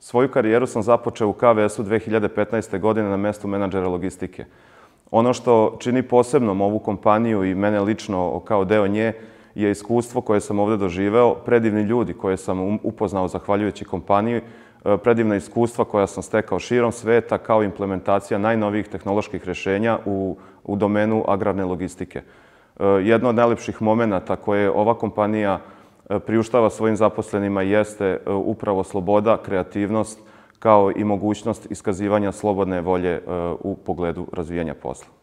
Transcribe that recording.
Svoju karijeru sam započeo u KVS-u 2015. godine na mestu menadžera logistike. Ono što čini posebnom ovu kompaniju i mene lično kao deo nje je iskustvo koje sam ovdje doživeo, predivni ljudi koje sam upoznao zahvaljujući kompaniji, predivna iskustva koja sam stekao širom sveta kao implementacija najnovijih tehnoloških rješenja u domenu agrarne logistike. Jedno od najlepših momenata koje ova kompanija priuštava svojim zaposlenima jeste upravo sloboda, kreativnost, kao i mogućnost iskazivanja slobodne volje u pogledu razvijanja posla.